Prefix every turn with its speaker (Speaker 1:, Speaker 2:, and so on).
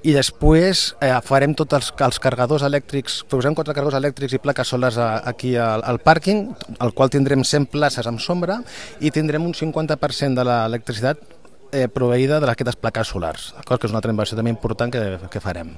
Speaker 1: i després farem tots els carregadors elèctrics, posem 4 carregadors elèctrics i plaques solars aquí al pàrquing, al qual tindrem 100 places amb sombra i tindrem un 50% de l'electricitat proveïda d'aquestes plaques solars, que és una altra inversió també important que farem.